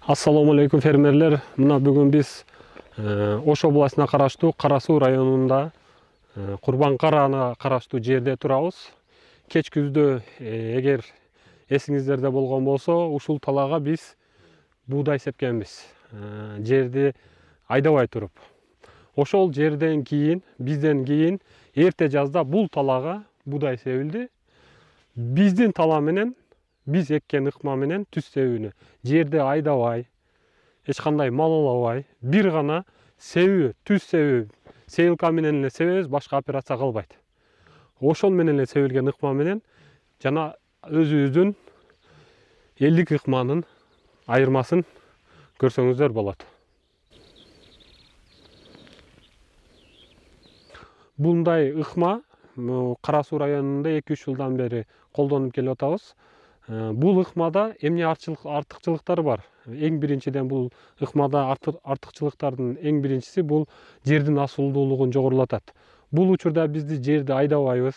Ассаламу алейкум фермерлер. Мына бүгүн биз Ош областына караштуу Кара Суу районунда Курбан Карана караштуу жерде турабыз. Кеч күздө эгер эсиңиздерде болгон болсо, ушул талаага биз буудай сепкенбиз. Жерди айдабай туруп. Ошол жерден кийин, бизден кийин эрте жазда бул талаага буудай себилди. Биздин тала менен биз эккен ыкма менен түз себүүнү жерди айдабай, эч кандай малалабай, бир гана себүү, түз себүү, сейилка менен эле себебиз, башка операция кылбайт. Ошол менен эле себилген ыкма менен жана өзүбүздүн элдик ыкманын айырмасын көрсөңүздөр болот. Мындай ыкма Кара Суу районунда 2-3 жылдан бери колдонуп келип атабыз. Бул ыкмада эмне артыкчылыктары бар? Эң биринчиден бул ыкмада артыкчылыктардын эң биринчиси бул жердин асуулдуулугун жогорулатат. Бул учурда бизди жерди айдабайбыз,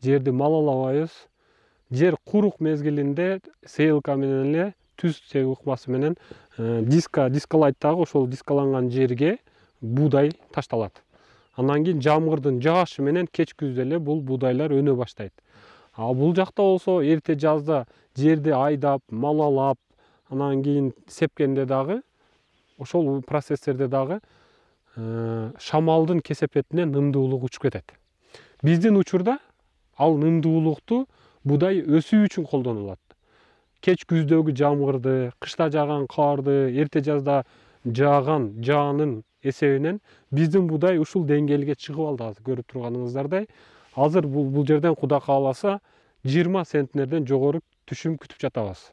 жерди малалабайбыз. Жер курук мезгилинде сейилка менен эле түз себүү ыкмасы менен дискалайттагы ошол дискаланган жерге буудай ташталат. Андан кийин жамгырдын жаашы менен кеч күздө эле бул буудайлар өнө баштайт. А бул жакта болсо эрте жазда жерди айдап, малалап, анан кийин сепкенде дагы ошол процесстерде дагы шамалдын кесепетинен нымдуулук учуп кетет. Биздин учурда ал нымдуулукту буудай өсүү үчүн колдонулат. Кеч күздөгү жамгырды, кышта жааган карды, эрте жазда жааган жаанын эсебинен биздин буудай ушул деңгээлге чыгып алды. Азыр көрүп турганыңыздардай. Азыр бул жерден Кудай кааласа 20 центнерден жогору түшүм күтүп жатабыз.